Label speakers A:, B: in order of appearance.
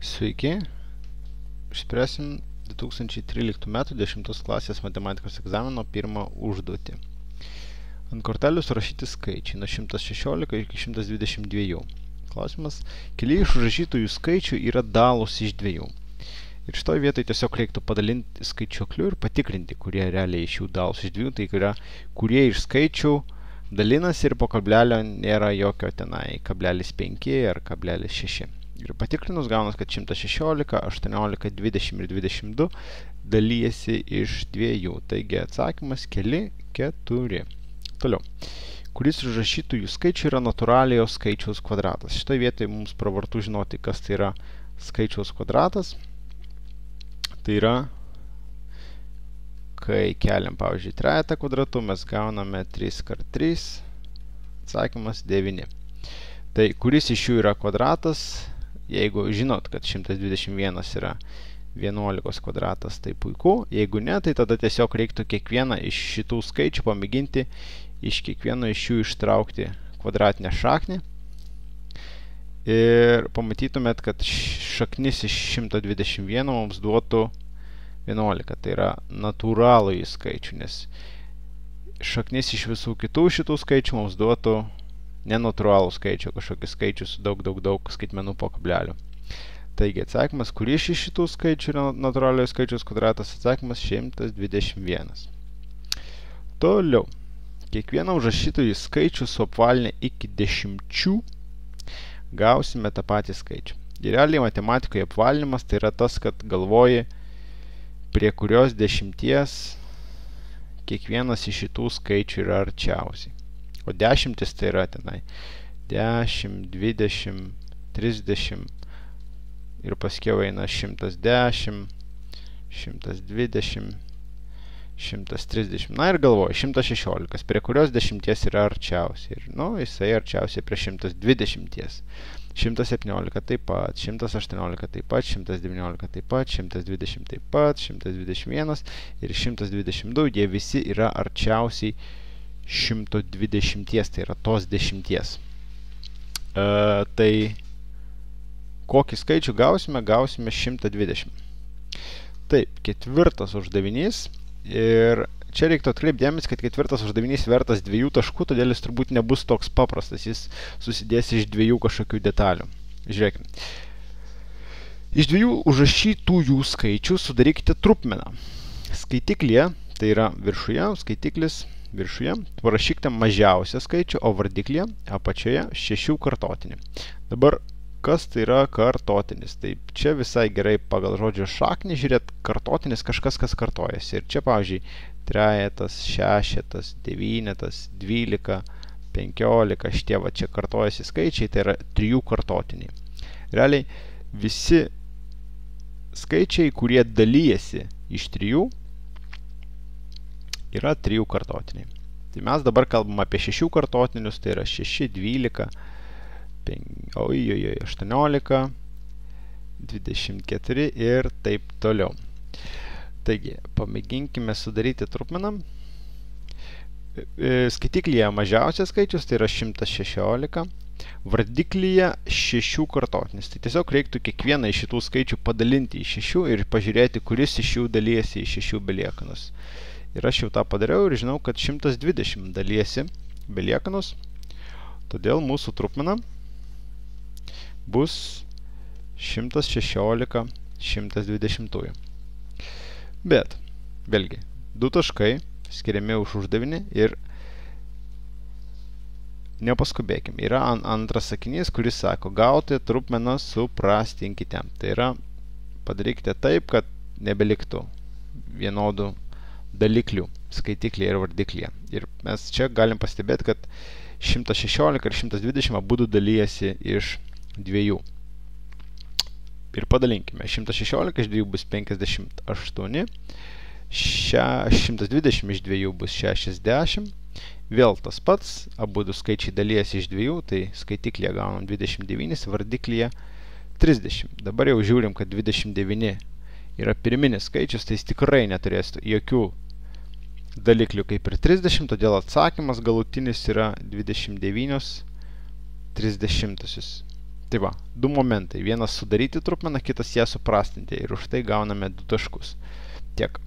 A: Sveiki, išspręsim 2013 metų 10 klasės matematikos egzamino pirmą užduotį. Ant kortelių surašyti skaičiai nuo 116 iki 122. Klausimas, keli iš užrašytųjų skaičių yra dalūs iš dviejų. Ir šitoj vietoj tiesiog reiktų padalinti skaičiuokliu ir patikrinti, kurie realiai iš jų dalūs iš dviejų, tai yra, kurie iš skaičių dalinasi ir po kablelio nėra jokio tenai 0,5 ar 0,6. Ir patikrinus gaunas, kad 116, 18, 20 ir 22 dalyjasi iš dviejų. Taigi atsakymas keli 4. Toliau. Kuris užrašytųjų skaičių yra natūraliojo skaičiaus kvadratas? Šitoje vietoje mums pravartu žinoti, kas tai yra skaičiaus kvadratas. Tai yra, kai keliam, pavyzdžiui, trejetą kvadratu, mes gauname 3 kart 3. Atsakymas 9. Tai kuris iš jų yra kvadratas? Jeigu žinot, kad 121 yra 11 kvadratas, tai puiku. Jeigu ne, tai tada tiesiog reiktų kiekvieną iš šitų skaičių pamėginti iš kiekvieno iš jų ištraukti kvadratinę šaknį. Ir pamatytumėt, kad šaknis iš 121 mums duotų 11. Tai yra natūralųjį skaičių, nes šaknis iš visų kitų šitų skaičių mums duotų nenatūralų skaičių, kažkokį skaičių su daug skaitmenų po kablelių. Taigi atsakymas, kuris iš šitų skaičių yra natūraliojo skaičiaus kvadratas? Atsakymas 121. Toliau. Kiekvieną užrašytųjų skaičių suapvalinę iki 10 gausime tą patį skaičių. Ir realiai matematikoje apvalinimas tai yra tas, kad galvoji, prie kurios 10 kiekvienas iš šitų skaičių yra arčiausiai. O 10 tai yra tenai 10, 20, 30 ir paskiau eina 110, 120, 130. Na ir galvoju, 116, prie kurios 10 yra arčiausiai. Ir, jisai arčiausiai prie 120. 117 taip pat, 118 taip pat, 119 taip pat, 120 taip pat, 121 ir 122. Jie visi yra arčiausiai 120, tai yra tos 10. Tai kokį skaičių gausime? Gausime 120. Taip, ketvirtas uždavinys. Ir čia reiktų atkreipti dėmesį, kad ketvirtas uždavinys vertas 2 taškų, todėl jis turbūt nebus toks paprastas. Jis susidės iš 2 kažkokių detalių. Žiūrėkime. Iš 2 užrašytųjų skaičių sudarykite trupmeną. Skaitiklyje, tai yra viršuje, skaitiklis viršuje, parašykite mažiausią skaičių, o vardiklyje apačioje 6 kartotinį. Dabar, kas tai yra kartotinis? Taip, čia visai gerai pagal žodžio šaknį žiūrėt, kartotinis kažkas, kas kartojasi. Ir čia, pavyzdžiui, trejetas, šešetas, devynetas, 12, 15, šitie va čia kartojasi skaičiai, tai yra 3 kartotiniai. Realiai, visi skaičiai, kurie dalyjasi iš 3, yra 3 kartotiniai. Tai mes dabar kalbam apie 6 kartotinius, tai yra 6, 12, 18, 24 ir taip toliau. Taigi, pamėginkime sudaryti trupmeną. Skaitiklyje mažiausias skaičius, tai yra 116. Vardiklyje 6 kartotinis. Tai tiesiog reiktų kiekvieną iš šitų skaičių padalinti į 6 ir pažiūrėti, kuris iš jų dalyjasi į 6 beliekanus. Ir aš jau tą padariau ir žinau, kad 120 dalyjasi beliekanus. Todėl mūsų trupmena bus 116 120. Bet, vėlgi, 2 taškai skiriami už uždavinį ir nepaskubėkim. Yra antras sakinys, kuris sako, gauti trupmeną suprastinkite. Tai yra, padarykite taip, kad nebeliktų vienodų daliklių skaitiklyje ir vardiklyje. Ir mes čia galim pastebėti, kad 116 ir 120 abudu dalyjasi iš 2. Ir padalinkime. 116 iš 2 bus 58, 120 iš 2 bus 60. Vėl tas pats, abudu skaičiai dalyjasi iš 2, tai skaitiklyje gaunam 29, vardiklyje 30. Dabar jau žiūrim, kad 29 yra pirminis skaičius, tai jis tikrai neturės jokių daliklių kaip ir 30, todėl atsakymas galutinis yra 29 30. Tai va, du momentai. Vienas sudaryti trupmeną, kitas ją suprastinti. Ir už tai gauname 2 taškus. Tiek.